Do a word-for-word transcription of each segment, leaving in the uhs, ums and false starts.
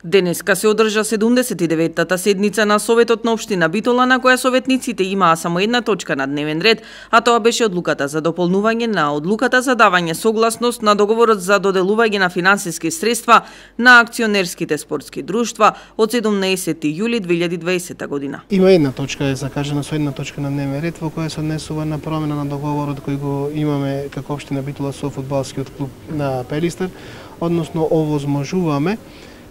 Денеска се одржа седумдесет и деветата седница на Советот на општина Битола, на која советниците имаа само една точка на дневен ред, а тоа беше одлуката за дополнување на одлуката за давање согласност на договорот за доделување на финансиски средства на акционерските спортски друштва од седумнаесети јули две илјади и дваесета година. Има една точка, е закажана со една точка на дневен ред во која се однесува на промена на договорот кој го имаме како општина Битола со фудбалскиот клуб на Пелистер, односно овозможуваме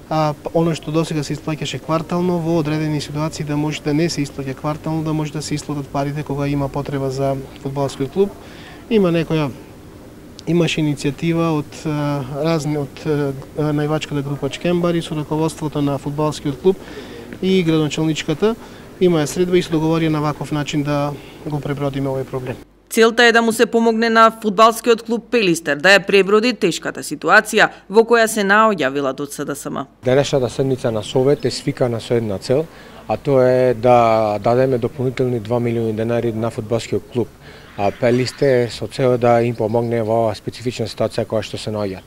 а оно што досега се исплаќаше квартално, во одредени ситуации да може да не се исплаќа квартално, да може да се исплатат парите кога има потреба за фудбалскиот клуб. Има некоја имаше иницијатива од разни од највачката група Чкембари со раководството на фудбалскиот клуб и градоначалничката. Има средба и се договори на ваков начин да го пребродиме овој проблем. Целта е да му се помогне на фудбалскиот клуб Пелистер да ја преброди тешката ситуација во која се наоѓа, велат од СДСМ. Денешната седница на Совет е свикана со една цел, а тоа е да дадеме дополнителни два милиони денари на фудбалскиот клуб а Пелистер со цел да им помогне во специфична ситуација која што се наоѓа.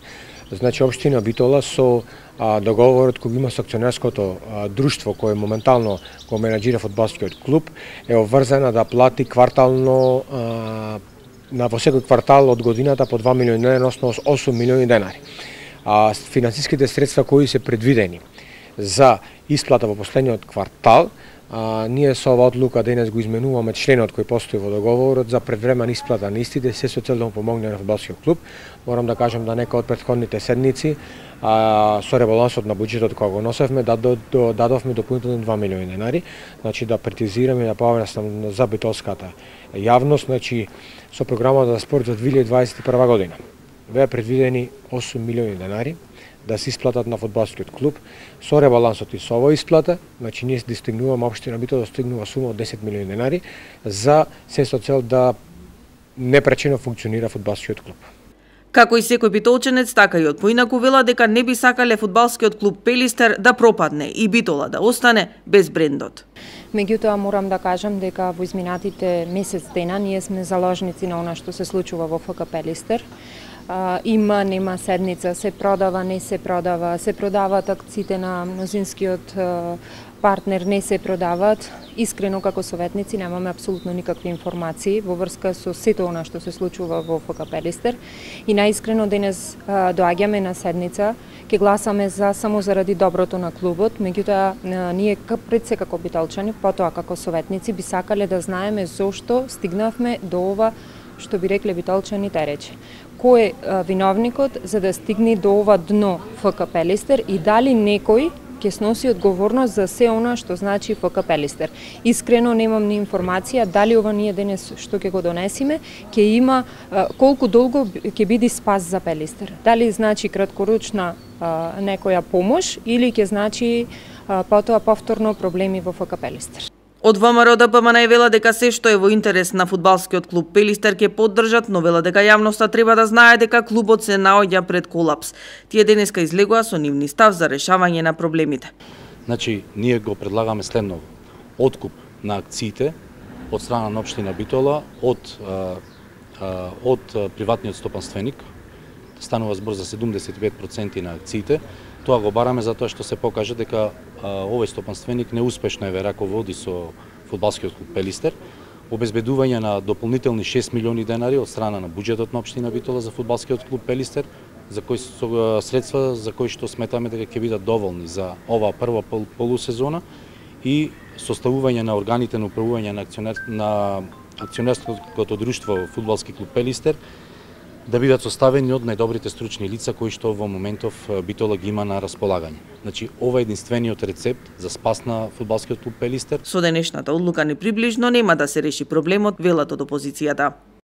Значи, општина Битола со а, договорот кој има со акционерското а, друштво кое моментално го менаџира фудбалскиот клуб е обврзана да плати квартално а, на во секој квартал од годината по два милиони денари, односно осум милиони денари. А финансиските средства кои се предвидени за исплата во последниот квартал, А, ние со оваа одлука денес го изменуваме членот кој постои во договорот за предвремена исплата на истите, се со цел да му помогне на фудбалскиот клуб. Морам да кажам да нека од претходните седници а, со ребалансот на буџетот кога го носевме да до, до, дадовме дополнителни два милиони денари, значи да прецизираме да појаснам за битолската јавност, значи со програмата за спорт за две илјади дваесет и прва година беа предвидени осум милиони денари да се исплатат на фудбалскиот клуб. Со ребалансот и со оваа исплата, значи ние достигнуваме општина Битола достигнува сума од десет милиони денари за се со цел да непречено функционира фудбалскиот клуб. Како и секој битолченец, така и од поинаку вела дека не би сакале фудбалскиот клуб Пелистер да пропадне и Битола да остане без брендот. Меѓутоа морам да кажам дека во изминатите месец дена ние сме заложници на она што се случува во ФК Пелистер. Uh, има, нема седница, се продава, не се продава, се продаваат акциите на мнозинскиот uh, партнер, не се продаваат. Искрено како советници немаме апсолутно никакви информации во врска со сето она што се случува во ФК Пелистер и најискрено денес uh, доаѓаме на седница, ќе гласаме за само заради доброто на клубот, меѓутоа uh, ние пред се како битолчани, потоа како советници би сакале да знаеме зошто стигнавме до ова што би рекле битолчаните рече. Кој е а, виновникот за да стигне до ова дно ФК Пелистер и дали некој ќе сноси одговорност за се она што значи ФК Пелистер. Искрено немам ни информација дали ова ние денес што ќе го донесиме ќе има а, колку долго ќе биде спас за Пелистер. Дали значи краткоручна а, некоја помош или ќе значи а, потоа повторно проблеми во ФК Пелистер. Од ВМРО Д П М Н вела дека се што е во интерес на фудбалскиот клуб Пелистер ќе поддржат, но вела дека јавноста треба да знае дека клубот се наоѓа пред колапс. Тие денеска излегоа со нивни став за решавање на проблемите. Значи, ние го предлагаме следново. Откуп на акциите од страна на општина Битола од а, а, од приватниот стопанственик. Станува збор за седумдесет и пет проценти на акциите. Тоа го бараме затоа што се покаже дека а, овој стопанственик неуспешно е раководи со фудбалскиот клуб Пелистер. Обезбедување на дополнителни шест милиони денари од страна на буџетот на општина Битола за фудбалскиот клуб Пелистер, за кои со средства за кои што сметаме дека ќе бидат доволни за оваа прва пол, полусезона и составување на органите на управување на акционер на акционерското друштво фудбалски клуб Пелистер да бидат составени од најдобрите стручни лица кои што во моментов Битола ги има на располагање. Значи, ова е единствениот рецепт за спас на фудбалскиот клуб Пелистер. Со денешната одлука не приближно нема да се реши проблемот, велат од опозицијата.